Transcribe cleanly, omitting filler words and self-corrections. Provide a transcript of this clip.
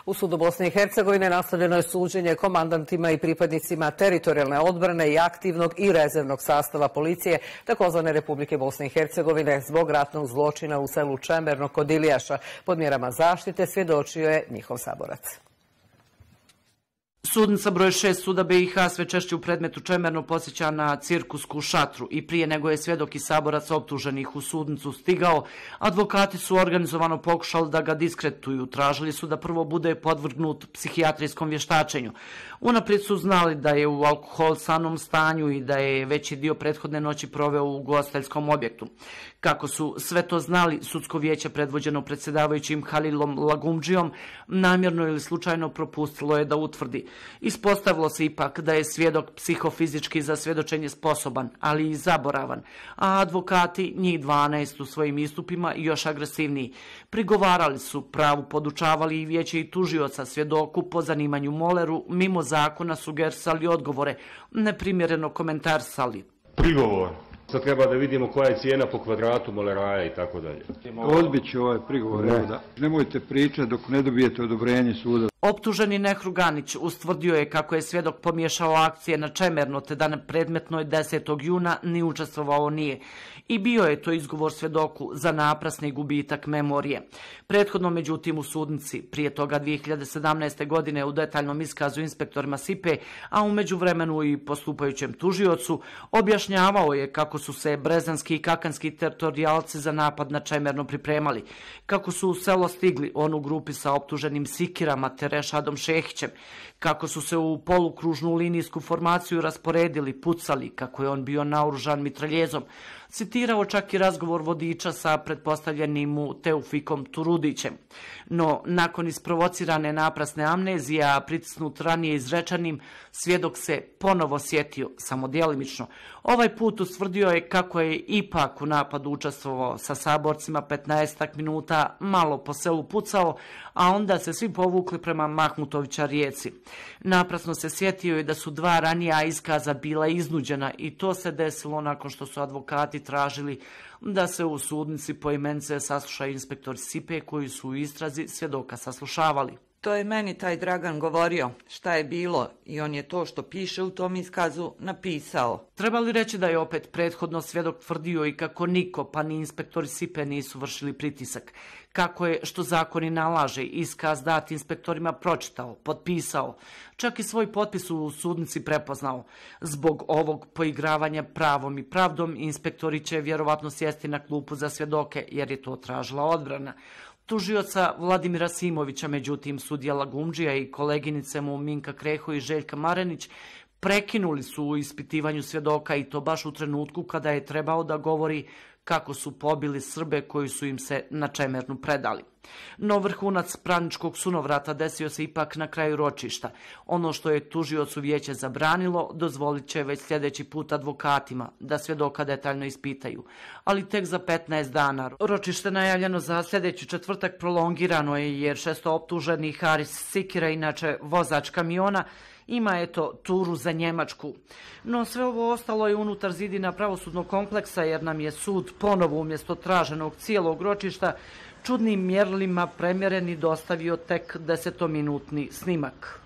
U sudu Bosne i Hercegovine nastavljeno je suđenje komandantima i pripadnicima teritorijalne odbrane i aktivnog i rezervnog sastava policije takozvane Republike Bosne i Hercegovine zbog ratnog zločina u selu Čemerno kod Ilijaša. Pod mjerama zaštite svjedočio je njihov saborac. Sudnica broj 6 suda BiH sve češće u predmetu Čemerno podsjeća na cirkusku šatru i prije nego je svjedok i saborac optuženih u sudnicu stigao, advokati su organizovano pokušali da ga diskredituju. Tražili su da prvo bude podvrgnut psihijatrijskom vještačenju. Unaprijed su znali da je u alkoholisanom stanju i da je veći dio prethodne noći proveo u ugostiteljskom objektu. Kako su sve to znali, sudsko vijeće predvođeno predsjedavajućim Halilom Lagumdžijom namjerno ili slučajno propustilo je da utvrdi. Ispostavilo se ipak da je svjedok psihofizički za svjedočenje sposoban, ali i zaboravan, a advokati, njih 12 u svojim istupima još agresivniji. Prigovarali su, pravu podučavali i vijeće i tužioca, svjedoku po zanimanju moleru, mimo zakona sugerisali odgovore, neprimjereno komentarsali. Prigovor. Sad treba da vidimo koja je cijena po kvadratu moleraja i tako dalje. Odbit ću ovaj prigovor. Nemojte pričati dok ne dobijete odobrenje suda. Optuženi Nehrug Ganić ustvrdio je kako je svjedok pomiješao akcije na Čemerno, te da na predmetnoj 10. juna ni učestvovao nije. I bio je to izgovor svjedoku za naprasni gubitak memorije. Prethodno, međutim, u sudnici, prije toga 2017. godine u detaljnom iskazu inspektorima SIPE, a u međuvremenu i postupajućem tužiocu, objašnjavao je kako su se brezanski i kakanski teritorijalci za napad na Čemerno pripremali, kako su u selo stigli onu grupi sa optuženim sikirama te Rešadom Šehićem, kako su se u polukružnu linijsku formaciju rasporedili, pucali, kako je on bio naoružan mitraljezom. Citirao čak i razgovor vodiča sa pretpostavljenim mu Teufikom Turudićem. No, nakon isprovocirane naprasne amnezije, a pritisnut ranije izrečenim, svjedok se ponovo sjetio, samo djelimično. Ovaj put ustvrdio je kako je ipak u napadu učestvovao sa saborcima 15 minuta, malo po selu pucao, a onda se svi povukli prema Mahmutovića rijeci. Naprasno se sjetio i da su 2 ranija iskaza bila iznuđena i to se desilo nakon što su advokati tražili da se u sudnici poimence saslušaju inspektori SIPE koji su u istrazi svjedoka saslušavali. To je meni taj Dragan govorio šta je bilo i on je to što piše u tom iskazu napisao. Treba li reći da je opet prethodno svjedok tvrdio i kako niko, pa ni inspektori SIPE nisu vršili pritisak. Kako je, što zakoni nalaže, iskaz dat inspektorima pročitao, potpisao, čak i svoj potpis u sudnici prepoznao. Zbog ovog poigravanja pravom i pravdom, inspektori će vjerovatno sjesti na klupu za svjedoke, jer je to tražila odbrana. Tužioca Vladimira Simovića, međutim, sudija Lagumdžija i koleginice mu Minka Kreho i Željka Marenić prekinuli su u ispitivanju svjedoka i to baš u trenutku kada je trebao da govori kako su pobili Srbe koji su im se na Čemernu predali. No vrhunac pravničkog sunovrata desio se ipak na kraju ročišta. Ono što je tužiocu vijeće zabranilo, dozvolit će već sljedeći put advokatima da svjedoka detaljno ispitaju. Ali tek za 15 dana. Ročište najavljeno za sljedeći četvrtak prolongirano je jer 6 optuženi Haris Sikira, inače vozač kamiona, ima turu za Njemačku. No sve ovo ostalo je unutar zidina pravosudnog kompleksa jer nam je sud ponovo umjesto traženog cijelog ročišta čudnim mjerilima premjeren i dostavio tek 10-minutni snimak.